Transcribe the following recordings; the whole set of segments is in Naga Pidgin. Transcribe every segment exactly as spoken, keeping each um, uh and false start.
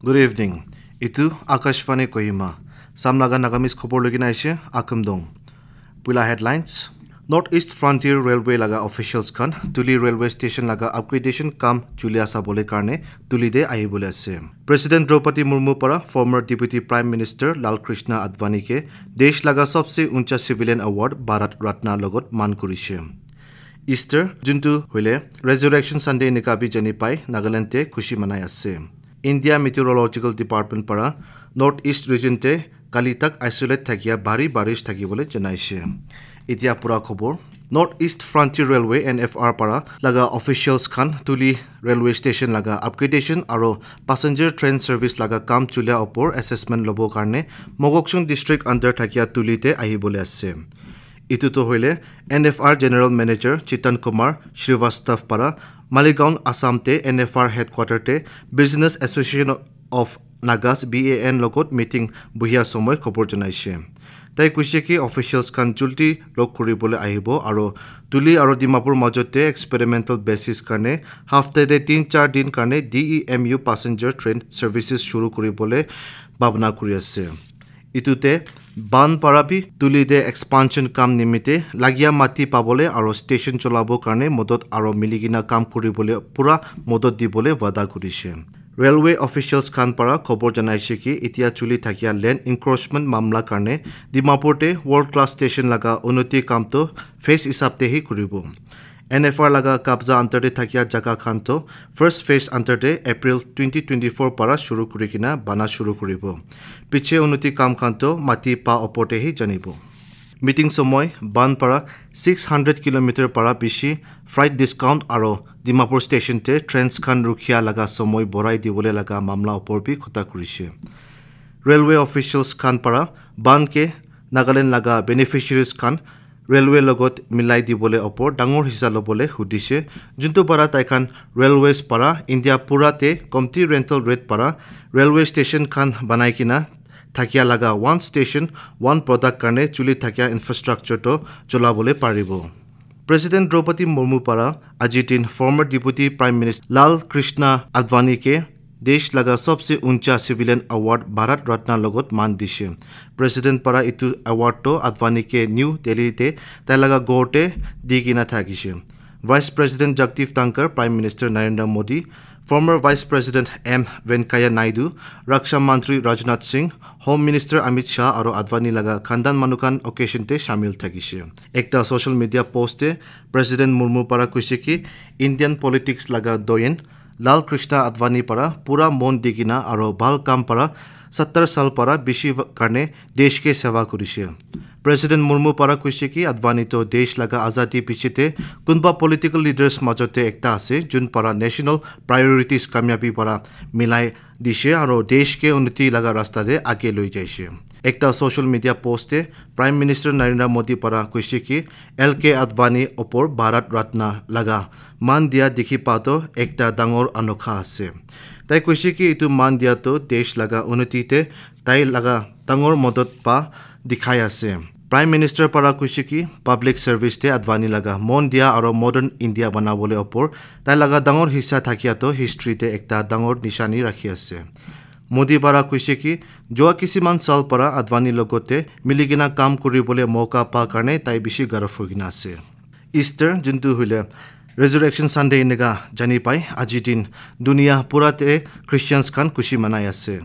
Good evening. Itu Akashvani Kohima. Sam laga Nagamese khobor lukina aishe, Akum Dong. Puila headlines. North East Frontier Railway laga officials khan Tuli railway station laga upgradation kam chulia sabole karne Tuli te ahibole ase. President Draupadi Murmu para former Deputy Prime Minister Lal Krishna Advani ke desh laga sabse uncha civilian award Bharat Ratna logot man kurishe. Easter, juntu hoile Resurrection Sunday enika bi jani pai Nagaland te khushi manai ase. India Meteorological Department para North East region te kali tak isolate thakia bhari barish thakibole janaishe. Itia pura khobor. North East Frontier Railway, N F R, para laga officials khan Tuli railway station laga upgradation aro passenger train service laga kam chulia opor assessment lobo karne Mokokchung district under thakia Tuli te ahibole ase. Itu to hoile N F R General Manager Chitan Kumar Srivastav para Maligaon, Assam te N F R headquarter te Business Association of Nagas, B A N, logot meeting buhia somoy khobor janaishe. Tai koishe ki officials khan julti log kuribole ahibo aro Tuli aro Dimapur majot te experimental basis karne hafta te tin char din karne D E M U passenger train services shuru kuribole bhabna kuri ase. Itu te ban para bi Tuli te expansion kam nimite lagia mati pabole aro station cholabo karne modot aro miligina kam kuribole pura modot dibole wada kurishe. Railway officials khan para khobor janaishe ki itia chuli thakia land encroachment mamla karne Dimapur te world class station laga unnoti kam to phase hisab te hi kuribo. N F R laga kabza under te thakia jaga khan to first phase under te April twenty twenty-four para shuru kuri kina bana shuru kuribo. Piche unnoti kam khan to mati pa opor te hi janibo. Meeting somoy ban para six hundred kilometer para bishi freight discount aro Dimapur station te trains khan rukhia laga somoy borai dibole laga mamla opor bi khota kurishe. Railway officials khan para ban ke Nagaland laga beneficiaries khan railway logot milai dibole opor dangor hisa lobole hudishe, juntu para tai khan railways para India pura te komti rental rate para railway station khan banai kina thakia laga one station, one product karne chuli thakia infrastructure to cholabole paribo. President Draupadi Murmu para aji din former Deputy Prime Minister Lal Krishna Advani ke desh laga sabse uncha civilian award Bharat Ratna logot man dishe. President para itu award to Advani ke New Delhi te tai laga ghor te di kina thakishe. Vice President Jagdeep Dhankhar, Prime Minister Narendra Modi, former Vice President M Venkaiah Naidu, Raksha Mantri Rajnath Singh, Home Minister Amit Shah aro Advani laga khandan manu khan occasion te shamil thakishe. Ekta social media post te President Murmu para koishe ki Indian politics laga doyen Lal Krishna Advani para pura mon di kina aro bhal kam para sattar sal para bishi karne desh ke seva kurishe. President Murmu para koishe ki Advani to desh laga azadi piche te kunba political leaders majot te ekta ase, jun para national priorities kamyabi para milai dishe aro desh ke unnoti laga rasta te age loi jaishe. Ekta social media post te Prime Minister Narendra Modi para koishe ki L K Advani opor Bharat Ratna laga man dia dikhi pa to ekta dangor anokha ase. Tai koishe ki itu man dia to desh laga unnoti te tai laga dangor modot pa dikhai ase. Prime Minister para koishe ki public service te Advani laga mon dia aro modern India banabole opor tai laga dangor hissa thakia to history te ekta dangor nishani rakhi ase. Modi para koishe ki jua kisiman sal para Advani logote miligina kam kuribole moka pa karne tai bishi garv hoikena ase. Easter, juntu hoile Resurrection Sunday enika jani pai, aji din dunia pura te Christians khan khushi manai ase.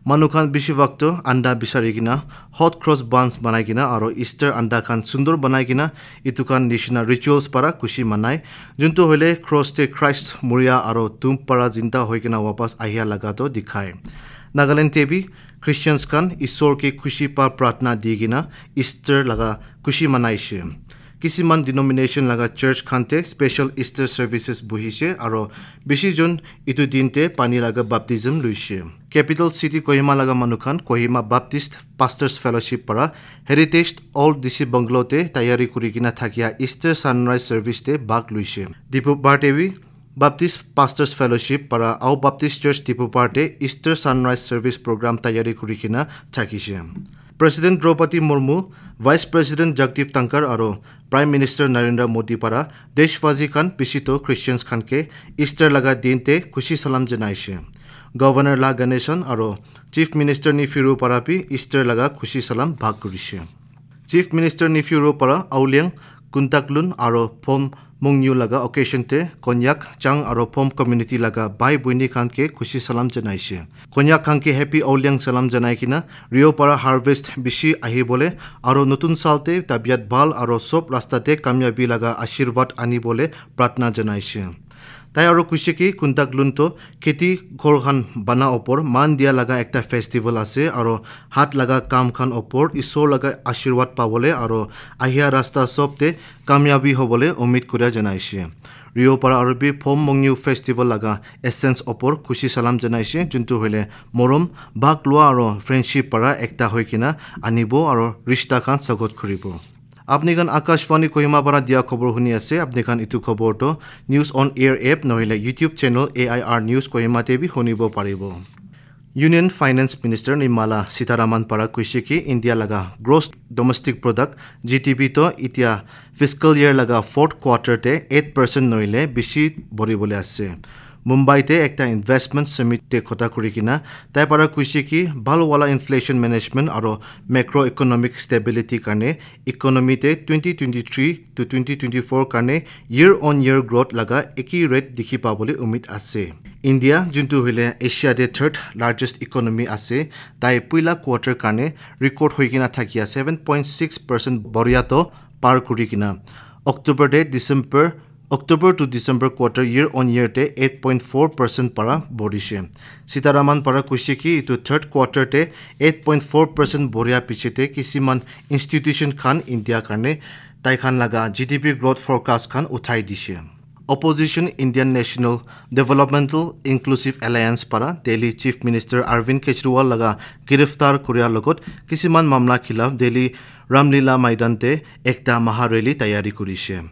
Manu khan bishi bhag toh anda bisari kena hot cross buns banai kena aro Easter anda khan sundur banai kena etu khan nishina rituals para khushi manai. Juntu hoile cross te Christ muria aro tomb para zinda hoi kena wapas ahia laga toh dikhai. Nagaland te bi Christians khan Isor ke khushi pa pratna di kena Easter laga khushi manaishe. Kisiman denomination laga church khan te special Easter services buhishe aro bishi jun etu din te pani laga baptism luishe. Capital city Kohima laga manu khan Kohima Baptist Pastors Fellowship para Heritage Old D C Bungalow te tayari kuri kena thakia Easter sunrise service te bhag luishe. Diphu bar te bi Baptist Pastors Fellowship para Ao Baptist Church Diphu bar te Easter sunrise service program tayari kuri kena thakishe. President Draupadi Murmu, Vice President Jagdeep Dhankhar aro Prime Minister Narendra Modi para deshwasi khan bishi toh Christians khan ke Easter laga din te khushi salam janaishe. Governor La Ganesan aro Chief Minister Neiphiu Rio para bi Easter laga khushi salam bhag kurishe. Chief Minister Neiphiu Rio para Aoliang, Kuntaklun aro Phom Mongniu laga occasion te Konyak, Chang aro Phom community laga bhai boini khan ke khushi salam janaishe. Konyak khan ke happy Aoliang salam janai kena Rio para harvest bishi ahibole aro notun sal te tabiat bhal aro sob rasta te kamyabi laga ashirwad anibole pratna janaishe. Tai aro kuishe ki Kuntaklun to kheti ghor khan bana opor man dia laga ekta festival ase aro hat laga kam khan opor Isor laga ashirwad pabole aro ahia rasta sob te kamyabi hobole umid kuria janaishe. Rio para aro bi Phom Mongniu festival laga essence opor khushi salam janaishe, juntu hoile morom, bhag lua aro friendship para ekta hoi kena anibo aro rishta khan sagot kuribo. Apni khan Akashvani Kohima para dia khobor huni ase. Apni khan itu khobor to News on Air app nohile YouTube channel A I R News Kohima te bi hunibo paribo. Union Finance Minister Nirmala Sitharaman para kuishe ki India laga gross domestic product, G D P to itia fiscal year laga fourth quarter te eight percent nohile bishi boribole ase. Mumbai te ekta investment summit te khota kuri kena tai para kuishe ki bhal wala inflation management aro macroeconomic stability karne economy te twenty twenty-three to twenty twenty-four karne year on year growth laga eki rate dikhi pabole umid ase. India, juntu hoile Asia te third largest economy ase, tai puila quarter karne record hoi kena thakia seven point six percent boria to par kuri kena October te December October to December quarter year on year te eight point four percent para borishe. Sitharaman para kuishe ki itu third quarter te eight point four percent boria piche te kisiman institution khan India karne tai khan laga G D P growth forecast khan uthai dishe. Opposition Indian National Developmental Inclusive Alliance para Delhi Chief Minister Arvind Kejriwal laga giriftar kuria logot kisiman mamla khilaf Delhi Ramlila Maidan te ekta maha rally tayari kurishe.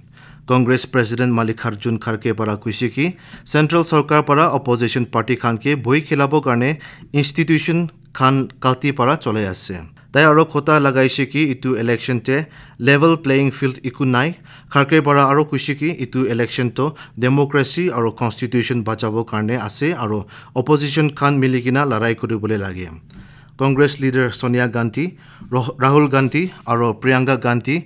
Congress President Mallikarjun Kharge para kuishe ki Central Sarkar para opposition party khan ke bhoi khilabo karne institution khan kalti para cholai ase. Tai aro khota lagaishe ki itu election te level playing field iku nai. Kharge para aro kuishe ki itu election to democracy aro constitution bachabo karne ase aro opposition khan mili kena larai kuribole lage. Congress leader Sonia Gandhi, Roh- Rahul Gandhi aro Priyanka Gandhi,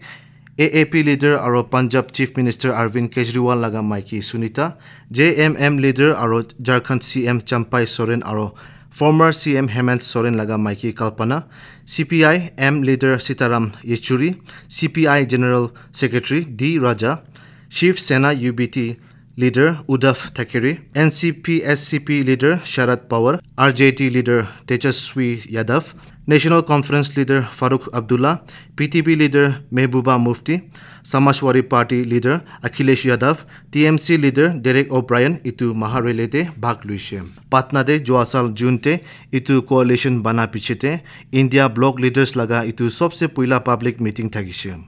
A A P leader aro Punjab Chief Minister Arvind Kejriwal laga maiki Sunita, J M M leader aro Jharkhand C M Champai Soren aro former C M Hemant Soren laga maiki Kalpana, C P I M leader Sitaram Yechury, C P I General Secretary D Raja, Shiv Sena U B T leader Uddhav Thackeray, N C P S C P leader Sharad Pawar, R J D leader Tejaswi Yadav, National Conference leader Farooq Abdullah, P T P leader Mehbooba Mufti, Samajwadi Party leader Akhilesh Yadav, T M C leader Derek O'Brien itu maha rally te bhag luishe. Patna te jua sal June te itu coalition bana piche te India bloc leaders laga itu sobse puila public meeting thakishe.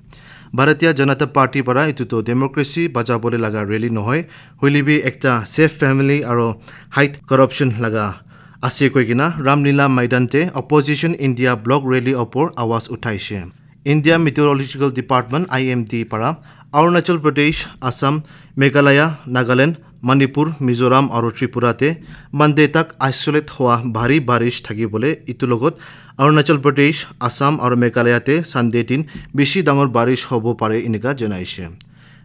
Bharatiya Janata Party para itu to democracy bachabo le laga rally nohoi, hoile bi ekta safe family aro hide corruption laga ase koi kena Ramlila Maidan te opposition India bloc rally opor awaz uthaishe. India Meteorological Department, I M D, para Arunachal Pradesh, Assam, Meghalaya, Nagaland, Manipur, Mizoram aro Tripura te Monday tak isolate hua bhari barish thakibole itu logot Arunachal Pradesh, Assam aro Meghalaya te Sunday din bishi dangor barish hobo pare enika janaishe.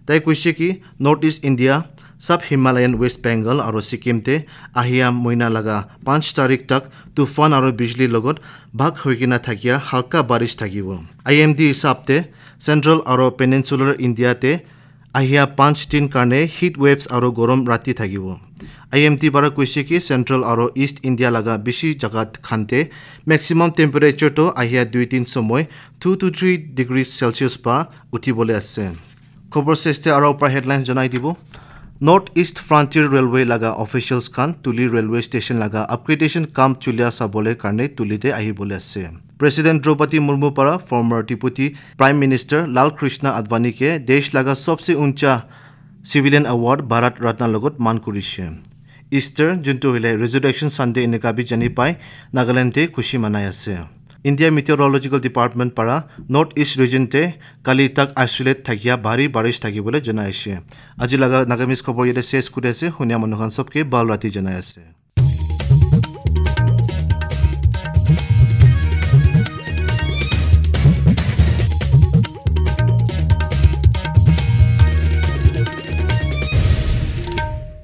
Tai kuishe ki North East India, Sub Himalayan West Bengal aro Sikkim te ahia moina laga panch tarik tak tufan aro bijli logot bhag hoi kena thakia halka barish thakibo. I M D hisab te Central aro Peninsular India te ahia panch din karne heat waves aro gorom rati thakibo. I M D para kuishe ki Central aro East India laga bishi jaga khan te maximum temperature to ahia dui din somoy two to three degrees Celsius pa uthibole ase. Khobor seste aro upar headlines janai dibo. North East Frontier Railway laga officials khan Tuli Railway Station laga upgradation kam chulia sabole karne Tuli te ahibole ase. President Draupadi Murmu para former Deputy Prime Minister Lal Krishna Advani ke desh laga sabse uncha civilian award Bharat Ratna logot man kurishe. Easter, juntu hoile Resurrection Sunday enika bi jani pai, Nagaland te khushi manai ase. India Meteorological Department para North East region te kali tak isolate thakia bhari barish thakibole janai ase. Aji laga Nagamese khobor yate ses kuri ase, hunia manu khan sabke bhal rati janai ase.